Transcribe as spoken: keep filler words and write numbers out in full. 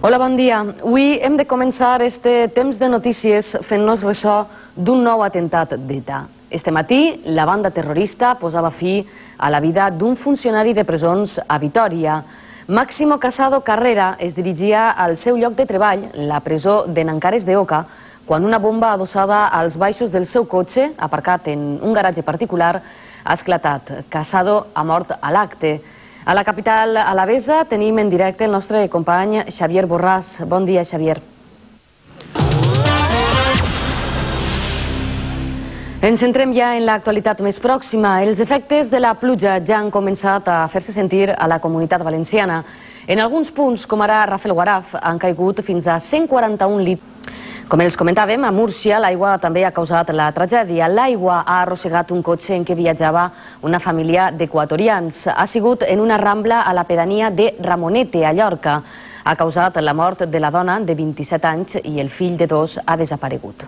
Hola, bon dia. Avui hem de començar este temps de notícies fent-nos ressò d'un nou atemptat d'ETA. Este matí, la banda terrorista posava fi a la vida d'un funcionari de presons a Vitòria. Máximo Casado Carrera es dirigia al seu lloc de treball, la presó de Nancares de Oca, quan una bomba adossada als baixos del seu cotxe, aparcat en un garatge particular, ha esclatat. Casado ha mort a l'acte. A la capital alavesa tenim en directe el nostre company Xavier Borràs. Bon dia, Xavier. Ens centrem ja en l'actualitat més pròxima. Els efectes de la pluja ja han començat a fer-se sentir a la Comunitat Valenciana. En alguns punts, com ara Rafelguaraf, han caigut fins a cent quaranta-un litres. Com els comentàvem, a Múrcia l'aigua també ha causat la tragèdia. L'aigua ha arrossegat un cotxe en què viatjava una família d'equatorians. Ha sigut en una rambla a la pedania de Ramonete, a Llorca. Ha causat la mort de la dona de vint-i-set anys i el fill de dos ha desaparegut.